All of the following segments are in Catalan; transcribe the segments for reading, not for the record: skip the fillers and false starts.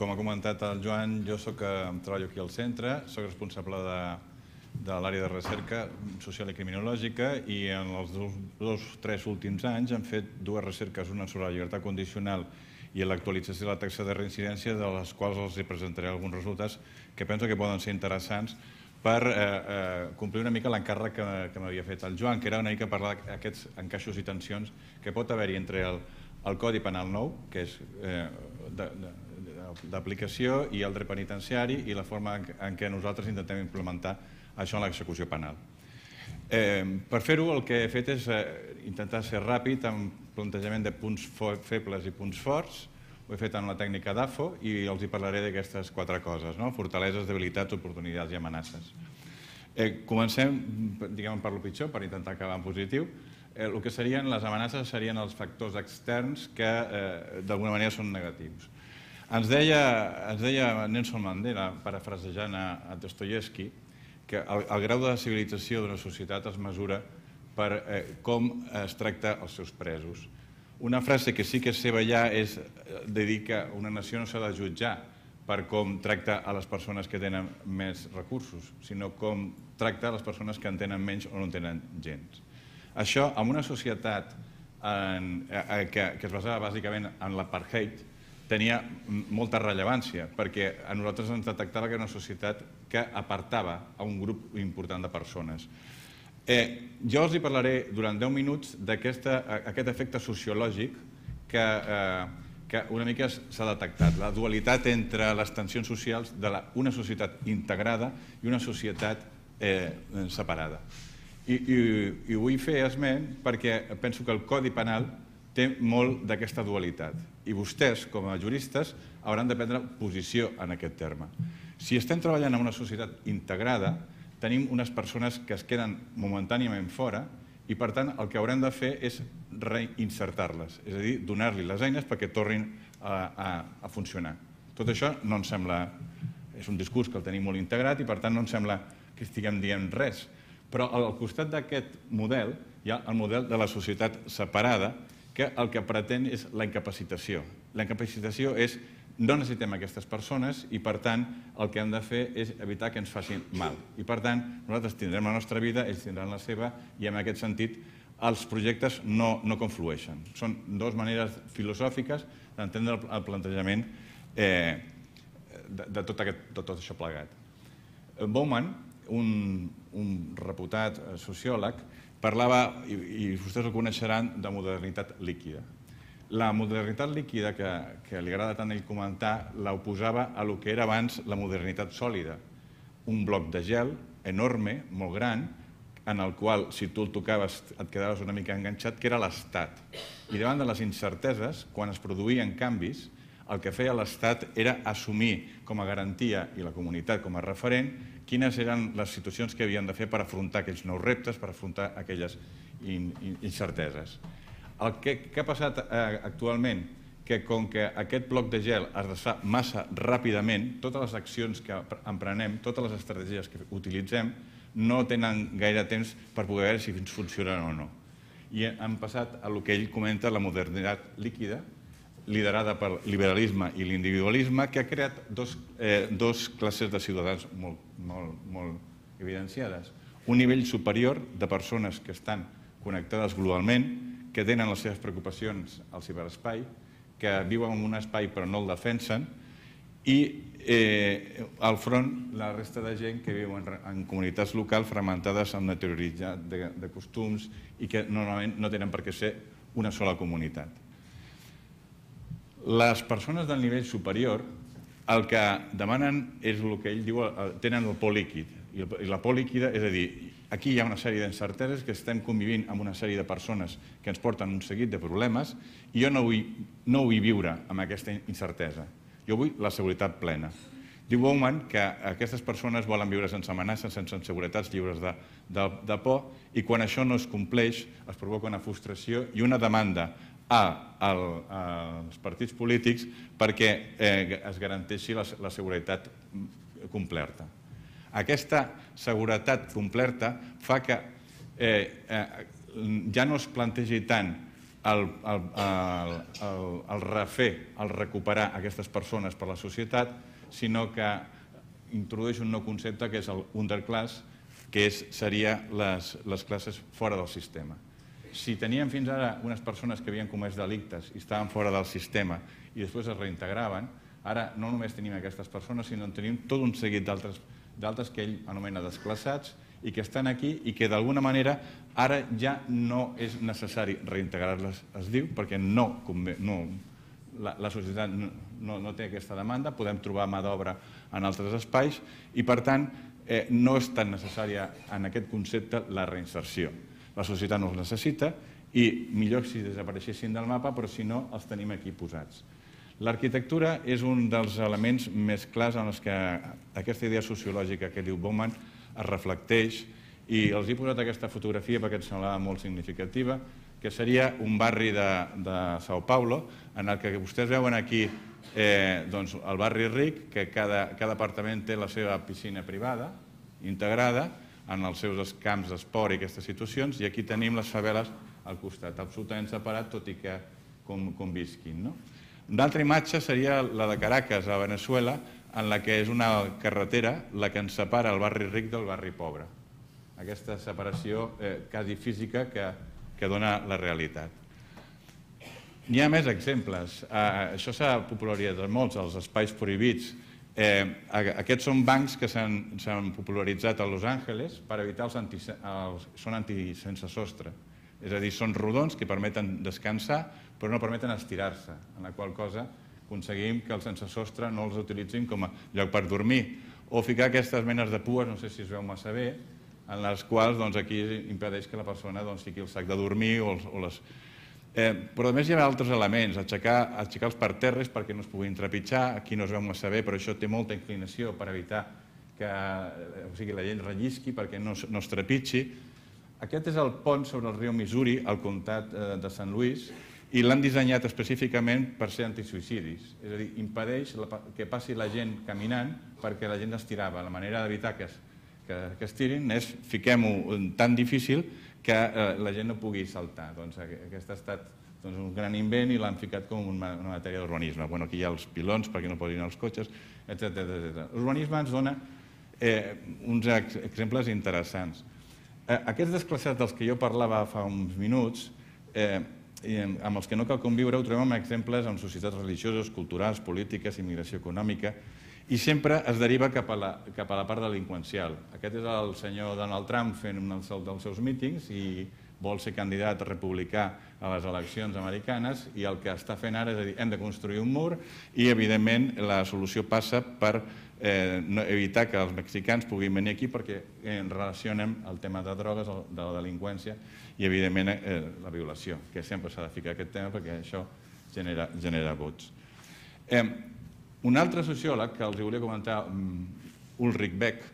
Com ha comentat el Joan, jo treballo aquí al centre, soc responsable de l'àrea de recerca social i criminològica i en els tres últims anys hem fet dues recerques, una sobre la llibertat condicional i l'actualització de la taxa de reincidència, de les quals els presentaré alguns resultats que penso que poden ser interessants per complir una mica l'encàrrec que m'havia fet el Joan, que era una mica parlar d'aquests encaixos i tensions que pot haver-hi entre el Codi Penal nou, que és d'aplicació, i el dret penitenciari i la forma en què nosaltres intentem implementar això en l'execució penal. Per fer-ho el que he fet és intentar ser ràpid amb plantejament de punts febles i punts forts. Ho he fet en la tècnica d'AFO i els hi parlaré d'aquestes quatre coses, fortaleses, debilitats, oportunitats i amenaces. Comencem, diguem, per lo pitjor, per intentar acabar en positiu. El que serien les amenaces serien els factors externs que d'alguna manera són negatius. Ens deia Nelson Mandela, parafrasejant a Dostoievski, que el grau de civilització d'una societat es mesura per com es tracta els seus presos. Una frase que sí que és seva ja és de dir que una nació no s'ha de jutjar per com tracta a les persones que tenen més recursos, sinó com tracta a les persones que en tenen menys o no en tenen gens. Això, en una societat que es basava bàsicament en l'apartheid, tenia molta rellevància, perquè a nosaltres ens detectava que era una societat que apartava a un grup important de persones. Jo els parlaré durant 10 minuts d'aquest efecte sociològic que una mica s'ha detectat, la dualitat entre les tensions socials d'una societat integrada i una societat separada. I vull fer esment perquè penso que el Codi Penal té molt d'aquesta dualitat i vostès, com a juristes, hauran de prendre posició en aquest terme. Si estem treballant en una societat integrada, tenim unes persones que es queden momentàniament fora i, per tant, el que haurem de fer és reinsertar-les, és a dir, donar-li les eines perquè tornin a funcionar. Tot això no ens sembla... És un discurs que el tenim molt integrat i, per tant, no ens sembla que estiguem dient res. Però al costat d'aquest model hi ha el model de la societat separada, que el que pretén és la incapacitació. La incapacitació és no necessitem aquestes persones i, per tant, el que hem de fer és evitar que ens facin mal. I, per tant, nosaltres tindrem la nostra vida, ells tindran la seva, i en aquest sentit els projectes no conflueixen. Són dues maneres filosòfiques d'entendre el plantejament de tot això plegat. Bauman, un reputat sociòleg, parlava, i vostès el coneixeran, de modernitat líquida. La modernitat líquida, que li agrada tant a ell comentar, l'oposava a lo que era abans la modernitat sòlida. Un bloc de gel enorme, molt gran, en el qual, si tu el tocaves, et quedaves una mica enganxat, que era l'Estat. I davant de les incerteses, quan es produïen canvis, el que feia l'Estat era assumir com a garantia i la comunitat com a referent quines eren les situacions que havien de fer per afrontar aquells nous reptes, per afrontar aquelles incerteses. El que ha passat actualment, que com que aquest bloc de gel es desfà massa ràpidament, totes les accions que emprenem, totes les estratègies que utilitzem, no tenen gaire temps per poder veure si ens funcionen o no. I hem passat a el que ell comenta, la modernitat líquida, liderada pel liberalisme i l'individualisme, que ha creat dos classes de ciutadans molt evidenciades. Un nivell superior de persones que estan connectades globalment, que tenen les seves preocupacions al ciberespai, que viuen en un espai però no el defensen, i al front la resta de gent que viu en comunitats locals fragmentades amb una teoritat de costums i que normalment no tenen per què ser una sola comunitat. Les persones del nivell superior el que demanen és el que ell diu, tenen el por líquid. I la por líquida, és a dir, aquí hi ha una sèrie d'incerteses que estem convivint amb una sèrie de persones que ens porten un seguit de problemes i jo no vull viure amb aquesta incertesa. Jo vull la seguretat plena. Diu Bauman que aquestes persones volen viure sense amenaces, sense inseguretats, lliures de por, i quan això no es compleix es provoca una frustració i una demanda als partits polítics perquè es garanteixi la seguretat completa. Aquesta seguretat completa fa que ja no es plantegi tant el refer, el recuperar aquestes persones per la societat, sinó que introdueix un nou concepte que és el underclass, que seria les classes fora del sistema. Si teníem fins ara unes persones que havien comès delictes i estaven fora del sistema i després es reintegraven, ara no només tenim aquestes persones, sinó que tenim tot un seguit d'altres que ell anomena desclassats i que estan aquí i que d'alguna manera ara ja no és necessari reintegrar-les, es diu, perquè la societat no té aquesta demanda, podem trobar mà d'obra en altres espais i, per tant, no és tan necessària en aquest concepte la reinserció. La societat no els necessita i millor si desapareixessin del mapa, però si no, els tenim aquí posats. L'arquitectura és un dels elements més clars en els que aquesta idea sociològica que diu Bauman es reflecteix, i els he posat aquesta fotografia perquè em semblava molt significativa, que seria un barri de São Paulo, en el que vostès veuen aquí el barri ric, que cada apartament té la seva piscina privada, integrada, en els seus camps d'esport i aquestes situacions, i aquí tenim les faveles al costat, absolutament separat, tot i que convisquin. Una altra imatge seria la de Caracas, a Venezuela, en la que és una carretera la que ens separa el barri ric del barri pobre. Aquesta separació quasi física que dona la realitat. N'hi ha més exemples. Això s'ha popularitzat molt, els espais prohibits. Aquests són bancs que s'han popularitzat a Los Angeles per evitar són sense sostre. És a dir, són rodons que permeten descansar però no permeten estirar-se, en la qual cosa aconseguim que els sense sostre no els utilitzin com a lloc per dormir. O ficar aquestes menes de pues, no sé si es veu massa bé, en les quals aquí impedeix que la persona fiqui el sac de dormir o les... Però a més hi ha altres elements, aixecar els parterres perquè no es puguin trepitjar, aquí no es veu massa bé, però això té molta inclinació per evitar que la gent rellisqui perquè no es trepitgi. Aquest és el pont sobre el riu Missouri, al comtat de Sant Louis, i l'han dissenyat específicament per ser antisuïcidis, és a dir, impedeix que passi la gent caminant perquè la gent estirava. La manera d'evitar que es tirin és fiquem-ho tan difícil que la gent no pugui saltar. Aquest ha estat un gran invent i l'han ficat com una matèria d'urbanisme. Aquí hi ha els pilons perquè no posin els cotxes, etc. L'urbanisme ens dona uns exemples interessants. Aquests desclassats dels que jo parlava fa uns minuts, amb els que no cal conviure, ho trobem exemples en societats religioses, culturals, polítiques, immigració econòmica, i sempre es deriva cap a la part delinqüencial. Aquest és el senyor Donald Trump fent un dels seus mítings i vol ser candidat republicà a les eleccions americanes i el que està fent ara és dir, hem de construir un mur i, evidentment, la solució passa per evitar que els mexicans puguin venir aquí perquè relacionem el tema de drogues, de la delinqüència i, evidentment, la violació, que sempre s'ha de ficar aquest tema perquè això genera vots. Un altre sociòleg que els volia comentar, Ulrich Beck,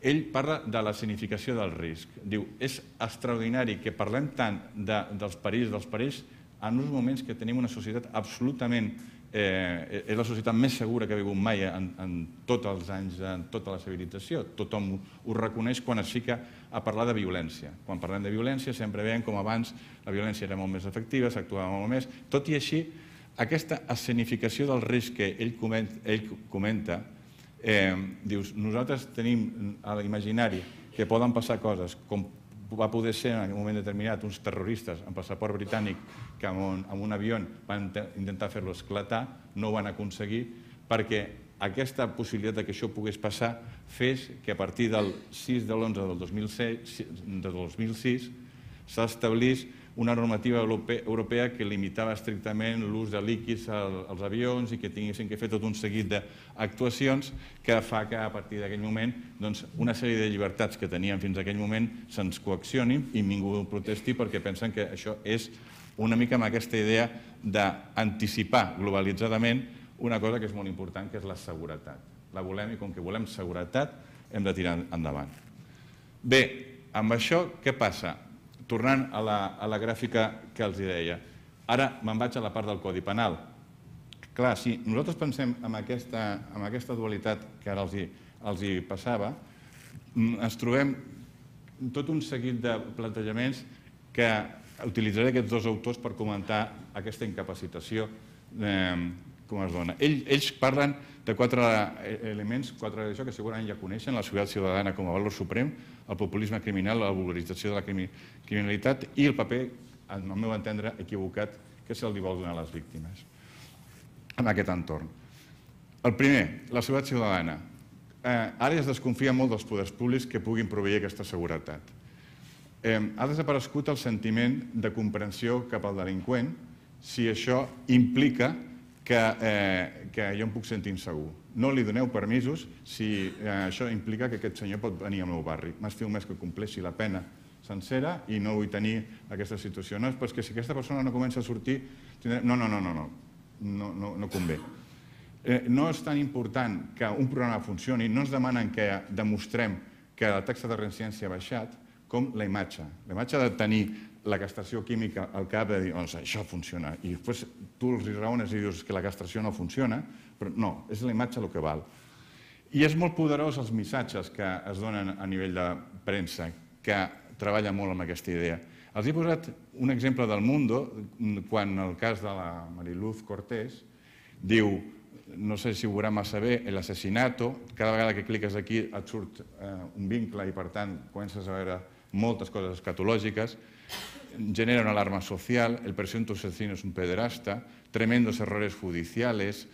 ell parla de la significació del risc. Diu, és extraordinari que parlem tant dels perills en uns moments que tenim una societat absolutament... És la societat més segura que ha vingut mai en tots els anys, en tota la civilització. Tothom ho reconeix quan es fica a parlar de violència. Quan parlem de violència sempre veiem com abans la violència era molt més efectiva, s'actuava molt més. Tot i així, aquesta escenificació del risc que ell comenta, dius, nosaltres tenim a l'imaginari que poden passar coses com va poder ser en un moment determinat uns terroristes amb passaport britànic que amb un avió van intentar fer-lo esclatar, no ho van aconseguir perquè aquesta possibilitat que això pogués passar fes que a partir del 6 de l'11 del 2006 s'establís una normativa europea que limitava estrictament l'ús de líquids als avions i que tinguessin que fer tot un seguit d'actuacions que fa que a partir d'aquell moment una sèrie de llibertats que teníem fins a aquell moment se'ns coaccionin i ningú protesti perquè pensen que això és una mica amb aquesta idea d'anticipar globalitzadament una cosa que és molt important, que és la seguretat. La volem i com que volem seguretat hem de tirar endavant. Bé, amb això què passa? Tornant a la gràfica que els deia, ara me'n vaig a la part del Codi Penal. Clar, si nosaltres pensem en aquesta dualitat que ara els hi passava, ens trobem tot un seguit de plantejaments que utilitzaré aquests dos autors per comentar aquesta incapacitació com es dona. Ells parlen de 4 elements, 4 d'això que segurament ja coneixen: la seguretat ciutadana com a valor suprem, el populisme criminal, la vulgarització de la criminalitat i el paper, al meu entendre, equivocat que se'ls vol donar a les víctimes en aquest entorn. El primer, la seguretat ciutadana. Ara ja es desconfia molt dels poders públics que puguin proveir aquesta seguretat. Ha desaparegut el sentiment de comprensió cap al delinqüent si això implica que jo em puc sentir insegur. No li doneu permisos si això implica que aquest senyor pot venir al meu barri. M'estiu més que compleixi la pena sencera i no vull tenir aquesta situació. No, però és que si aquesta persona no comença a sortir... No convé. No és tan important que un programa funcioni, no ens demanen que demostrem que la taxa de reincidència ha baixat, com la imatge. La imatge de tenir la castració química al cap de dir, doncs això funciona, i després tu els raones i dius que la castració no funciona, però no, és la imatge el que val. I és molt poderós els missatges que es donen a nivell de premsa, que treballa molt amb aquesta idea. Els he posat un exemple del Mundo, quan el cas de la Mariluz Cortés diu, no sé si ho veurà massa bé, l'assassinato, cada vegada que cliques aquí et surt un vincle i per tant comences a veure moltes coses escatològiques, genera una alarma social, el presunto asesino es un pederasta, tremendos errores judiciales,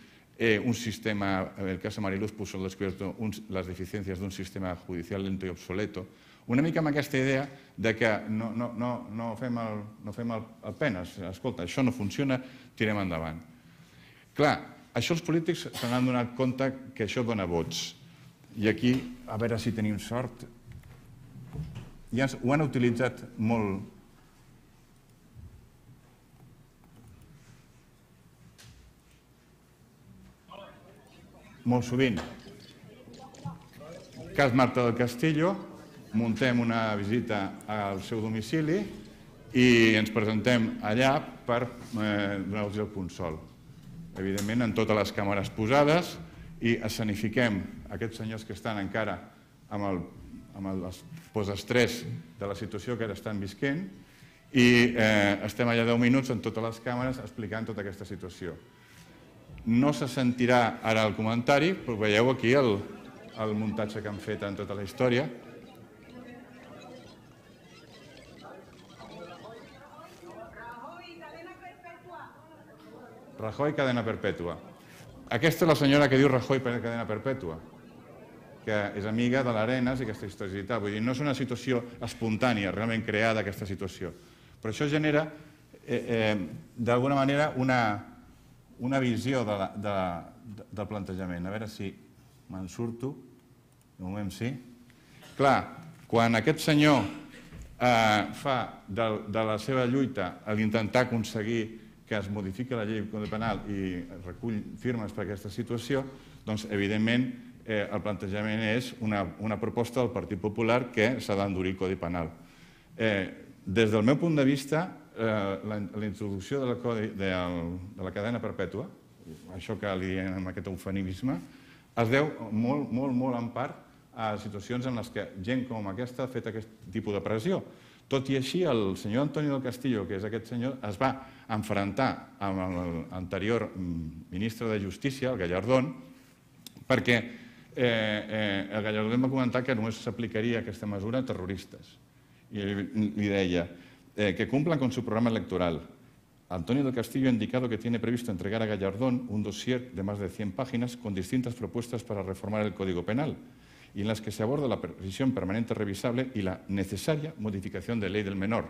un sistema, en el caso de Mariluz puso al descubierto las deficiencias de un sistema judicial lento i obsoleto, una mica amb aquesta idea de que no fem el penes, escolta, això no funciona, tirem endavant. Clar, això els polítics se n'han donat compte que això dona vots. I aquí, a veure si tenim sort, ja ho han utilitzat molt. Molt sovint. Cas Marta del Castillo, muntem una visita al seu domicili i ens presentem allà per donar-los el consol. Evidentment, amb totes les càmeres posades i escenifiquem aquests senyors que estan encara amb el postestrès de la situació que ara estan visquent i estem allà 10 minuts amb totes les càmeres explicant tota aquesta situació. No se sentirà ara el comentari, però veieu aquí el muntatge que han fet en tota la història. Rajoy, cadena perpètua. Aquesta és la senyora que diu Rajoy, cadena perpètua, que és amiga de l'Arenas i aquesta història i tal. Vull dir, no és una situació espontània, realment creada aquesta situació. Però això genera, d'alguna manera, una visió del plantejament. A veure si me'n surto. De moment sí. Clar, quan aquest senyor fa de la seva lluita a l'intentar aconseguir que es modifiqui la llei de Codi Penal i recull firmes per aquesta situació, doncs, evidentment, el plantejament és una proposta del Partit Popular que s'ha d'endurir el Codi Penal. Des del meu punt de vista, la introducció de la cadena perpètua, això que li diem amb aquest eufemisme, es deu molt, molt, molt en part a situacions en què gent com aquesta ha fet aquest tipus de pressió. Tot i així, el senyor Antonio del Castillo, que és aquest senyor, es va enfrontar amb l'anterior ministre de Justícia, el Gallardón, perquè el Gallardón va comentar que només s'aplicaria aquesta mesura a terroristes. Y li deia que cumplan con su programa electoral. Antonio del Castillo ha indicado que tiene previsto entregar a Gallardón un dossier de más de 100 páginas con distintas propuestas para reformar el Código Penal y en las que se aborda la prisión permanente revisable y la necesaria modificación de ley del menor,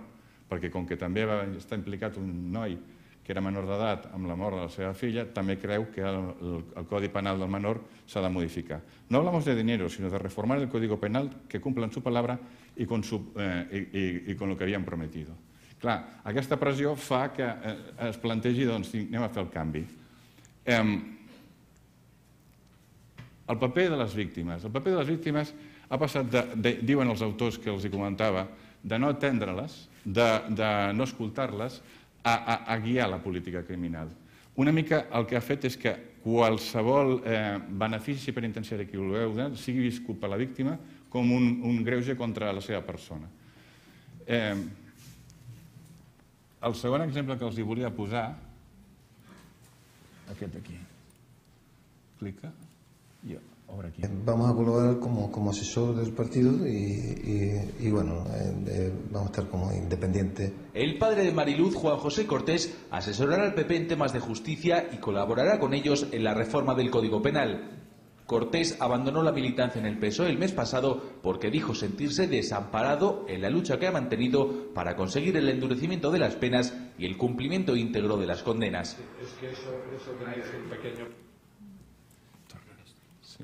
perquè com que també està implicat un noi que era menor d'edat amb la mort de la seva filla, també creu que el Codi Penal del menor s'ha de modificar. No hablamos de dinero, sino de reformar el Código Penal que cumplan su palabra y con lo que havien prometido. Clar, aquesta pressió fa que es plantegi, doncs, anem a fer el canvi. El paper de les víctimes. El paper de les víctimes ha passat, diuen els autors que els comentava, de no atendre-les, de no escoltar-les, a guiar la política criminal. Una mica el que ha fet és que qualsevol benefici penitenciari que vulgueu sigui viscut per la víctima com un greuge contra la seva persona. El segon exemple que els hi volia posar, aquest aquí. Clica i obre aquí. Vamos a colaborar como asesor del partido y bueno, vamos a estar como independientes. El padre de Mariluz, Juan José Cortés, asesorará al PP en temas de justicia y colaborará con ellos en la reforma del Código Penal. Cortés abandonó la militancia en el PSOE el mes pasado porque dijo sentirse desamparado en la lucha que ha mantenido para conseguir el endurecimiento de las penas y el cumplimiento íntegro de las condenas. Es que eso tenéis un pequeño... Sí.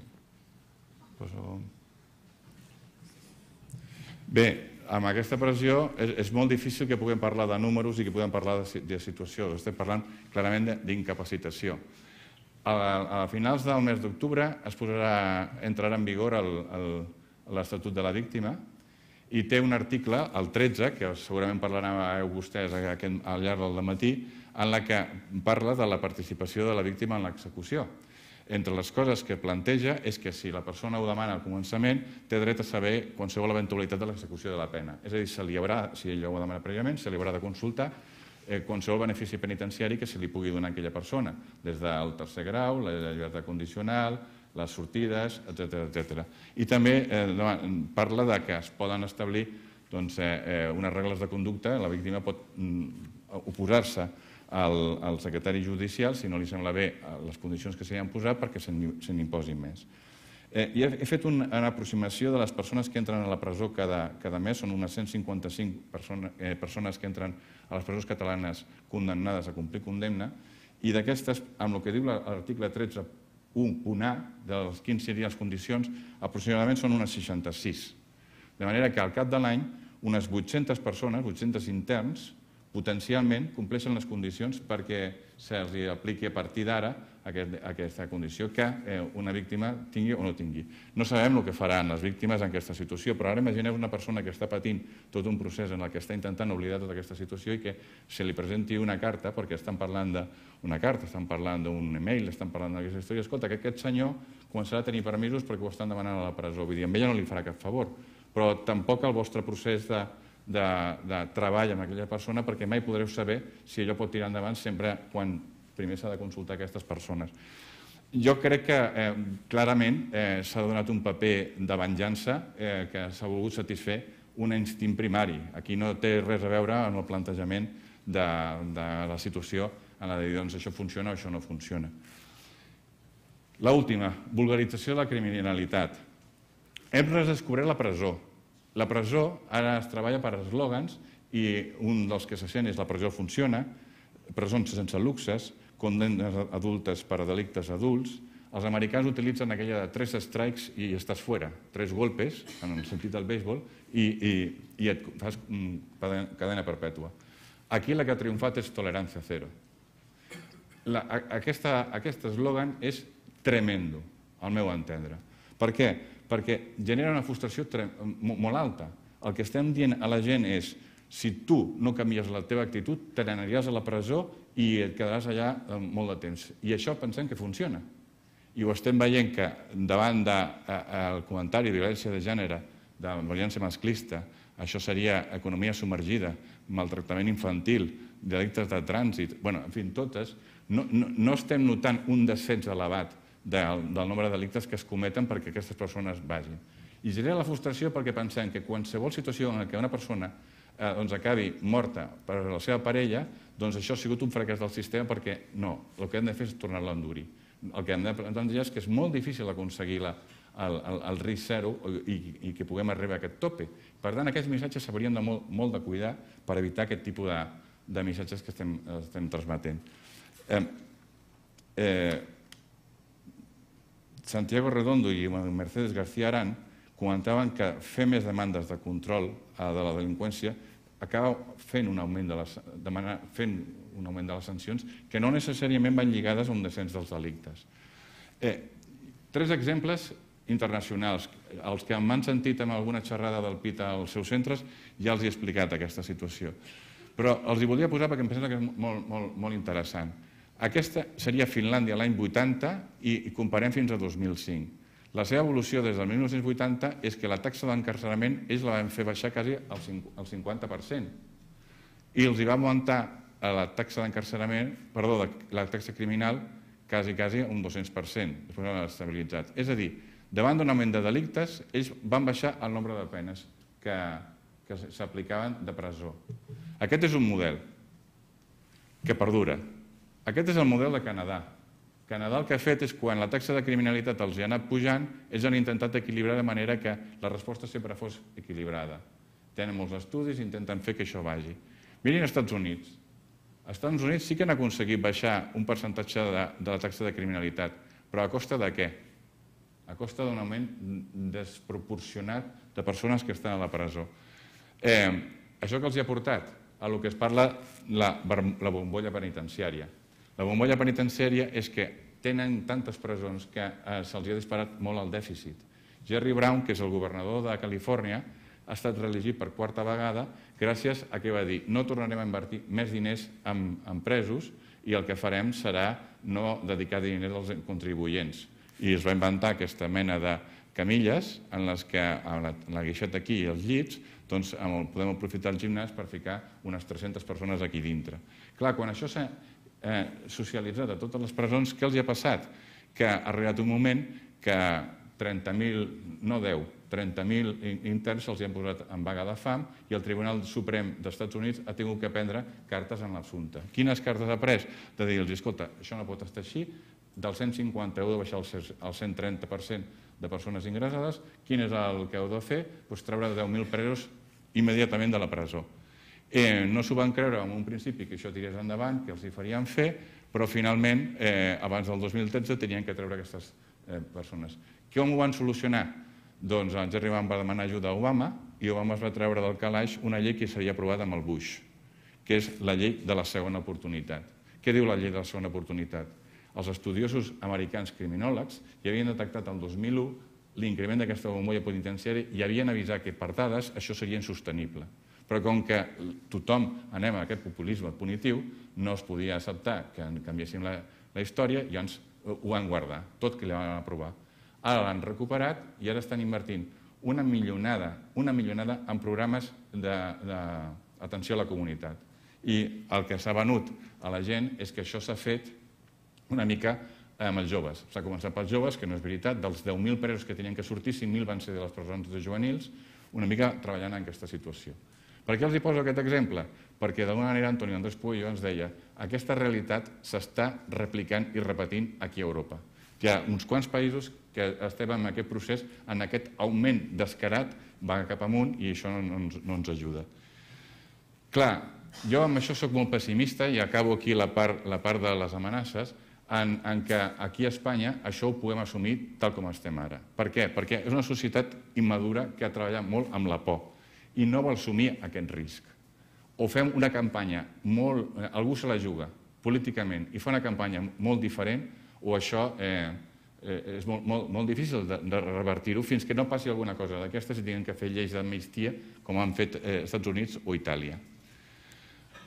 Bé, amb aquesta pressió és molt difícil que puguem parlar de números i que puguem parlar de situació. Estem parlant clarament d'incapacitació. A finals del mes d'octubre entrarà en vigor l'Estatut de la Víctima i té un article, el 13, que segurament parlareu vostès al llarg del dematí, en la que parla de la participació de la víctima en l'execució. Entre les coses que planteja és que si la persona ho demana al començament, té dret a saber qualsevol eventualitat de l'execució de la pena. És a dir, si ella ho demana prèviament, se li haurà de consultar qualsevol benefici penitenciari que se li pugui donar a aquella persona, des del tercer grau, la llibertat condicional, les sortides, etc. I també parla que es poden establir unes regles de conducta. La víctima pot oposar-se al secretari judicial si no li sembla bé les condicions que s'hi han posat perquè se n'imposin més. He fet una aproximació de les persones que entren a la presó cada mes. Són unes 155 persones que entren a les presons catalanes condemnades a complir condemna, i d'aquestes, amb el que diu l'article 13.1.a, dels quins serien les condicions, aproximadament són unes 66. De manera que al cap de l'any, unes 800 persones, 800 interns, potencialment compleixen les condicions perquè se'ls apliqui a partir d'ara aquesta condició que una víctima tingui o no tingui. No sabem el que faran les víctimes en aquesta situació, però ara imagineu una persona que està patint tot un procés en el que està intentant oblidar tota aquesta situació i que se li presenti una carta, perquè estan parlant d'una carta, estan parlant d'un e-mail, estan parlant d'aquesta història. Escolta, que aquest senyor començarà a tenir permisos perquè ho estan demanant a la presó. Vull dir, a ella no li farà cap favor, però tampoc el vostre procés de treball amb aquella persona, perquè mai podreu saber si allò pot tirar endavant sempre quan primer s'ha de consultar aquestes persones. Jo crec que clarament s'ha donat un paper de venjança que s'ha volgut satisfer un instint primari. Aquí no té res a veure amb el plantejament de la situació en la de dir, doncs això funciona o això no funciona. L'última, vulgarització de la criminalitat. Hem redescobert la presó. La presó ara es treballa per eslògans i un dels que se sent és la presó funciona, presons sense luxes, condemnes adultes per a delictes adults. Els americans utilitzen aquella de 3 strikes i estàs fora, 3 golpes, en el sentit del béisbol, i et fas cadena perpètua. Aquí la que ha triomfat és tolerància zero. Aquest eslògan és tremendo, al meu entendre. Per què? Perquè genera una frustració molt alta. El que estem dient a la gent és si tu no canvies la teva actitud, te n'aniràs a la presó i et quedaràs allà molt de temps. I això pensem que funciona. I ho estem veient que davant del comentari de violència de gènere, de violència masclista, això seria economia submergida, maltractament infantil, delictes de trànsit, en fi, totes, no estem notant un descens elevat del nombre de delictes que es cometen perquè aquestes persones vagin. I genera la frustració perquè pensem que qualsevol situació en què una persona acabi morta per la seva parella, doncs això ha sigut un fracàs del sistema perquè no, el que hem de fer és tornar-la a endurir. El que hem de plantejar és que és molt difícil aconseguir el risc zero i que puguem arribar a aquest tope. Per tant, aquests missatges s'haurien de molt de cuidar per evitar aquest tipus de missatges que estem transmetent. Santiago Redondo i Mercedes García Arán comentaven que fer més demandes de control de la delinqüència acaba fent un augment de les sancions que no necessàriament van lligades a un descens dels delictes. 3 exemples internacionals. Els que m'han sentit amb alguna xerrada del PIT als seus centres ja els he explicat aquesta situació. Però els hi volia posar perquè em sembla que és molt interessant. Aquesta seria Finlàndia l'any 80 i comparem fins a 2005. La seva evolució des del 1980 és que la taxa d'encarcerament ells la van fer baixar quasi al 50%. i els va augmentar la taxa d'encarcerament, perdó, la taxa criminal quasi un 200%, després l'han estabilitzat. És a dir, davant d'un augment de delictes, ells van baixar el nombre de penes que s'aplicaven de presó. Aquest és un model que perdura. Aquest és el model de Canadà. Canadà el que ha fet és, quan la taxa de criminalitat els ha anat pujant, ells han intentat equilibrar de manera que la resposta sempre fos equilibrada. Tenen molts estudis i intenten fer que això vagi. Mirin als Estats Units. Als Estats Units sí que han aconseguit baixar un percentatge de la taxa de criminalitat, però a costa de què? A costa d'un augment desproporcionat de persones que estan a la presó. Això que els ha portat a el que es parla la bombolla penitenciària. La bombolla penitenciària és que tenen tantes presons que se'ls ha disparat molt el dèficit. Jerry Brown, que és el governador de Califòrnia, ha estat reelegit per quarta vegada gràcies a que va dir no tornarem a invertir més diners en presos i el que farem serà no dedicar diners als contribuents. I es va inventar aquesta mena de camilles en les que la guixeta aquí i els llits podem aprofitar el gimnàs per ficar unes 300 persones aquí dintre. Clar, quan això s'ha socialitzat a totes les presons, què els ha passat? Que ha arribat un moment que 30.000, no 10, 30.000 interns se'ls han posat en vaga de fam i el Tribunal Suprem dels Estats Units ha tingut que prendre cartes en l'assumpte. Quines cartes ha pres? De dir-los, escolta, això no pot estar així, del 150 heu de baixar al 130% de persones ingressades, quin és el que heu de fer? Treure 10.000 presos immediatament de la presó. No s'ho van creure en un principi que això tirés endavant, que els hi farien fer, però finalment, abans del 2013, tenien que treure aquestes persones. Com ho van solucionar? Doncs en Jerry Brown va demanar ajuda a Obama i Obama es va treure del calaix una llei que s'havia aprovat amb el Bush, que és la llei de la segona oportunitat. Què diu la llei de la segona oportunitat? Els estudiosos americans criminòlegs ja havien detectat el 2001 l'increment d'aquesta bombolla penitenciària i havien avisat que per dades això seria insostenible. Però com que tothom anem a aquest populisme punitiu, no es podia acceptar que canviéssim la història i llavors ho van guardar, tot que li van aprovar. Ara l'han recuperat i ara estan invertint una milionada en programes d'atenció a la comunitat. I el que s'ha venut a la gent és que això s'ha fet una mica amb els joves. S'ha començat pels joves, que no és veritat, dels 10.000 presos que tenien que sortir, 5.000 van ser de les presons de juvenils, una mica treballant en aquesta situació. Per què els hi poso aquest exemple? Perquè d'alguna manera Antonio Andrés Pueyo ens deia aquesta realitat s'està replicant i repetint aquí a Europa. Hi ha uns quants països que estem en aquest procés, en aquest augment descarat, va cap amunt i això no ens ajuda. Clar, jo amb això soc molt pessimista i acabo aquí la part de les amenaces, en què aquí a Espanya això ho podem assumir tal com estem ara. Per què? Perquè és una societat immadura que ha treballat molt amb la por i no vol assumir aquest risc. O fem una campanya algú se la juga políticament i fa una campanya molt diferent, o això és molt difícil de revertir-ho fins que no passi alguna cosa d'aquestes i tinguin que fer lleis d'amnistia com han fet Estats Units o Itàlia.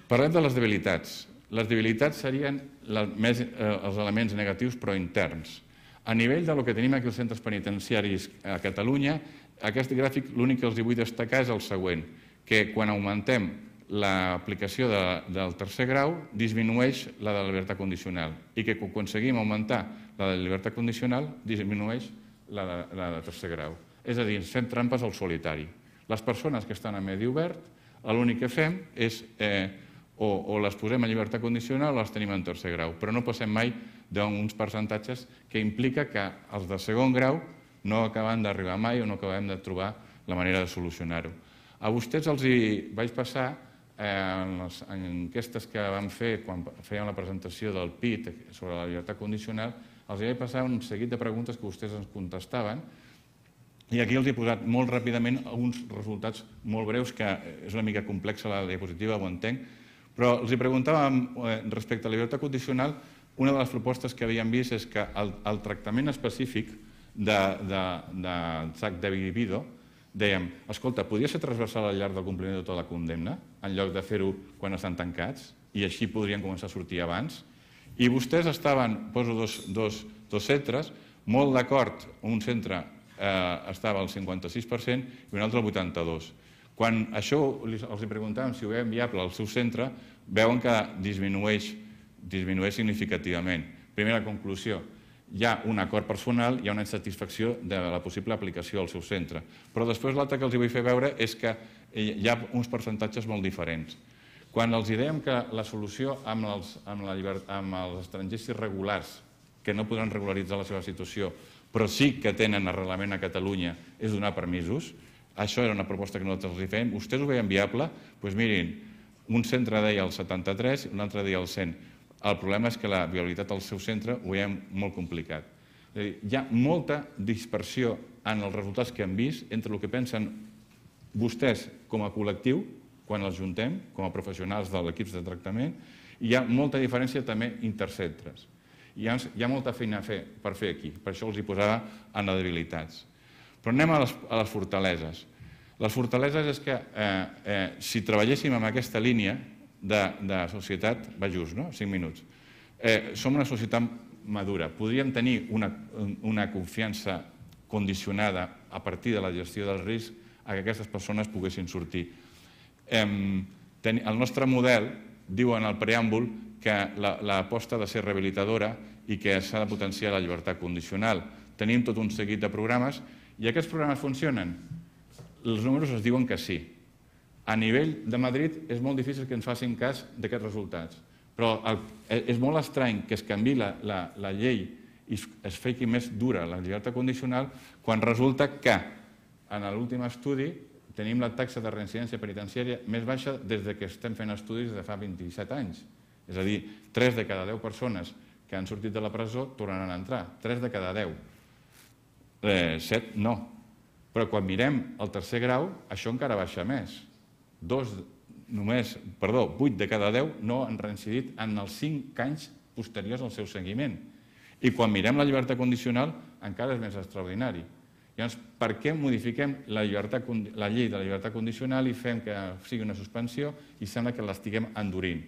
Parlem de les debilitats. Les debilitats serien els elements negatius però interns. A nivell del que tenim aquí als centres penitenciaris a Catalunya, aquest gràfic l'únic que els vull destacar és el següent, que quan augmentem l'aplicació del tercer grau disminueix la de la llibertat condicional i que quan aconseguim augmentar la de la llibertat condicional disminueix la de tercer grau. És a dir, ens fem trampes al solitari. Les persones que estan a medi obert, l'únic que fem és o les posem a llibertat condicional o les tenim en tercer grau, però no passem mai d'uns percentatges que implica que els de segon grau no acaben d'arribar mai o no acabem de trobar la manera de solucionar-ho. A vostès els hi vaig passar en les enquestes que vam fer quan fèiem la presentació del PIT sobre la llibertat condicional, els hi vaig passar un seguit de preguntes que vostès ens contestaven i aquí els he posat molt ràpidament uns resultats molt breus, que és una mica complexa la diapositiva, ho entenc, però els hi preguntàvem respecte a la llibertat condicional, una de les propostes que havíem vist és que el tractament específic de sac de libido, dèiem, escolta, podria ser transversal al llarg del compliment de tota la condemna, en lloc de fer-ho quan estan tancats, i així podrien començar a sortir abans. I vostès estaven, poso dos centres, molt d'acord, un centre estava al 56% i un altre al 82%. Quan això els preguntàvem si ho veien viable al seu centre, veuen que disminueix significativament. Primera conclusió, hi ha un acord personal, hi ha una insatisfacció de la possible aplicació al seu centre. Però després l'altre que els vull fer veure és que hi ha uns percentatges molt diferents. Quan els dèiem que la solució amb els estrangers irregulars, que no podran regularitzar la seva situació, però sí que tenen arrelament a Catalunya, és donar permisos, això era una proposta que nosaltres els fèiem. Vostès ho veien viable? Doncs mirin, un centre deia el 73 i un altre deia el 100. El problema és que la viabilitat del seu centre ho veiem molt complicat. És a dir, hi ha molta dispersió en els resultats que hem vist entre el que pensen vostès com a col·lectiu, quan els juntem, com a professionals de l'equip de tractament, i hi ha molta diferència també intercentres. Hi ha molta feina per fer aquí, per això els hi posava en les debilitats. Però anem a les fortaleses. Les fortaleses és que si treballéssim amb aquesta línia de societat, va just, no? 5 minuts. Som una societat madura. Podríem tenir una confiança condicionada a partir de la gestió del risc a que aquestes persones poguessin sortir. El nostre model diu en el preàmbul que l'aposta ha de ser rehabilitadora i que s'ha de potenciar la llibertat condicional. Tenim tot un seguit de programes i aquests programes funcionen? Els números es diuen que sí. A nivell de Madrid és molt difícil que ens facin cas d'aquests resultats, però és molt estrany que es canviï la llei i es faci més dura la llibertat condicional quan resulta que en l'últim estudi tenim la taxa de reincidència penitenciària més baixa des que estem fent estudis de fa 27 anys. És a dir, 3 de cada 10 persones que han sortit de la presó tornaran a entrar. 3 de cada 10. 7 no. Però quan mirem el tercer grau, això encara baixa més. 8 de cada 10 no han reincidit en els 5 anys posteriors al seu seguiment. I quan mirem la llibertat condicional, encara és més extraordinari. Llavors, per què modifiquem la llei de la llibertat condicional i fem que sigui una suspensió i sembla que l'estiguem endurint?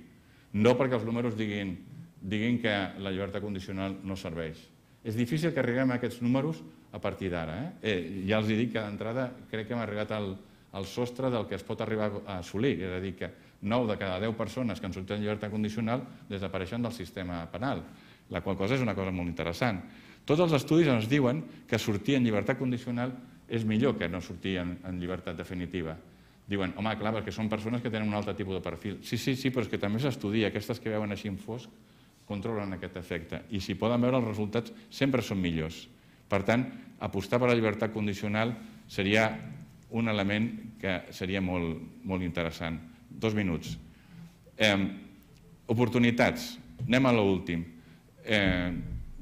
No perquè els números diguin que la llibertat condicional no serveix. És difícil que arribem a aquests números a partir d'ara. Ja els dic que d'entrada crec que hem arribat al sostre del que es pot arribar a assolir. És a dir, que 9 de cada 10 persones que han sortit en llibertat condicional desapareixen del sistema penal, la qual cosa és una cosa molt interessant. Tots els estudis ens diuen que sortir en llibertat condicional és millor que no sortir en llibertat definitiva. Diuen, home, clar, perquè són persones que tenen un altre tipus de perfil. Sí, però és que també s'estudia. Aquestes que veuen així en fosc controlen aquest efecte. I si poden veure els resultats, sempre són millors. Per tant, apostar per la llibertat condicional seria un element que seria molt interessant. 2 minuts. Oportunitats. Anem a l'últim.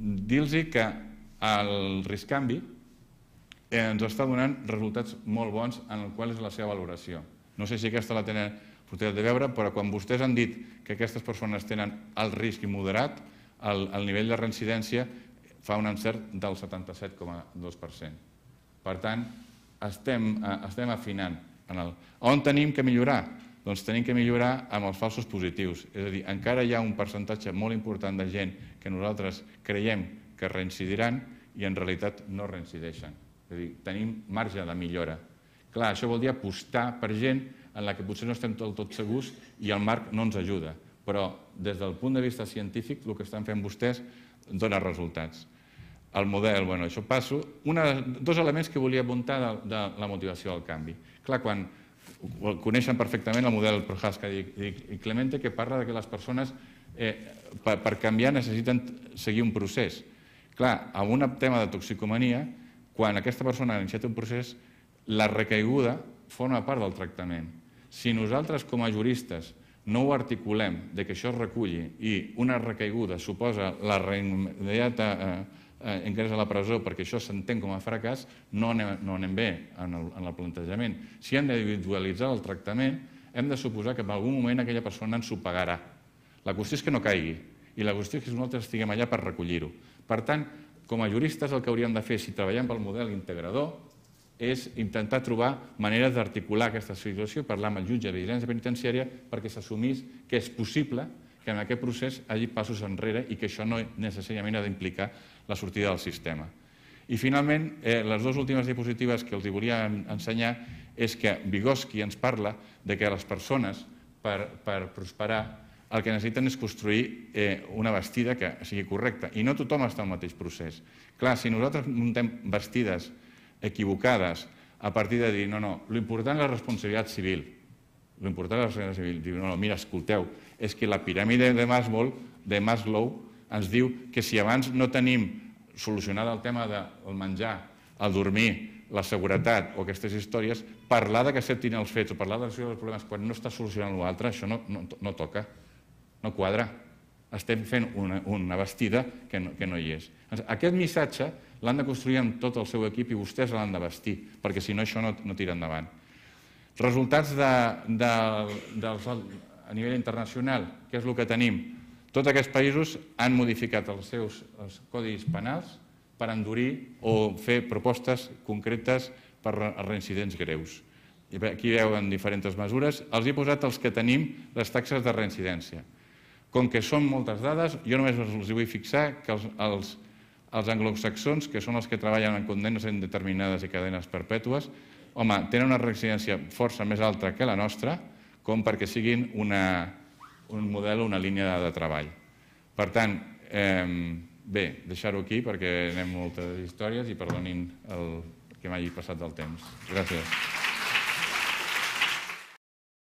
Dir-los que el risc-canvi ens està donant resultats molt bons en el qual és la seva valoració. No sé si aquesta la tenen oportunitat de veure, però quan vostès han dit que aquestes persones tenen el risc immoderat, el nivell de reincidència fa un encert del 77,2%. Per tant, estem afinant. On tenim que millorar? Doncs tenim que millorar amb els falsos positius. És a dir, encara hi ha un percentatge molt important de gent que nosaltres creiem que reincidiran i en realitat no reincideixen. És a dir, tenim marge de millora. Clar, això vol dir apostar per gent en la que potser no estem del tot segurs i el marc no ens ajuda. Però des del punt de vista científic el que estan fent vostès dona resultats. El model, això passo. 2 elements que volia apuntar de la motivació del canvi. Clar, quan coneixen perfectament el model Prohaska i Clemente, que parla que les persones per canviar necessiten seguir un procés. Clar, amb un tema de toxicomania, quan aquesta persona ha iniciat un procés, la recaiguda forma part del tractament. Si nosaltres com a juristes no ho articulem que això es reculli i una recaiguda suposa la immediata ingrés a la presó perquè això s'entén com a fracàs, no anem bé en el plantejament. Si hem d'individualitzar el tractament, hem de suposar que en algun moment aquella persona ens ho pagarà. La qüestió és que no caigui i la qüestió és que nosaltres estiguem allà per recollir-ho. Per tant, com a juristes el que hauríem de fer si treballem pel model integrador és intentar trobar maneres d'articular aquesta situació, parlar amb el jutge de vigilància penitenciària perquè s'assumís que és possible que en aquest procés hi hagi passos enrere i que això no necessàriament ha d'implicar la sortida del sistema. I finalment, les 2 últimes diapositives que els volia ensenyar és que Vygotsky ens parla de que les persones, per prosperar, el que necessiten és construir una bastida que sigui correcta. I no tothom està al mateix procés. Clar, si nosaltres muntem bastides equivocades a partir de dir no, l'important és la responsabilitat civil. L'important és la responsabilitat civil. Diu, no, mira, escolteu, és que la piràmide de Maslow ens diu que si abans no tenim solucionat el tema del menjar, el dormir, la seguretat o aquestes històries, parlar que acceptin els fets o parlar de els problemes quan no està solucionant l'altre, això no toca, no quadra. Estem fent una bastida que no hi és. Aquest missatge l'han de construir amb tot el seu equip i vostès l'han de vestir, perquè si no això no tira endavant. Resultats a nivell internacional, què és el que tenim? Tots aquests països han modificat els seus codis penals per endurir o fer propostes concretes per a reincidents greus. Aquí veuen diferents mesures. Els he posat els que tenim les taxes de reincidència. Com que són moltes dades, jo només els vull fixar que els anglosaxons, que són els que treballen en condemnes indeterminades i cadenes perpètues, home, tenen una reincidència força més alta que la nostra, com perquè siguin un model o una línia de treball. Per tant, bé, deixar-ho aquí perquè anem moltes històries i perdonin el que m'hagi passat del temps. Gràcies.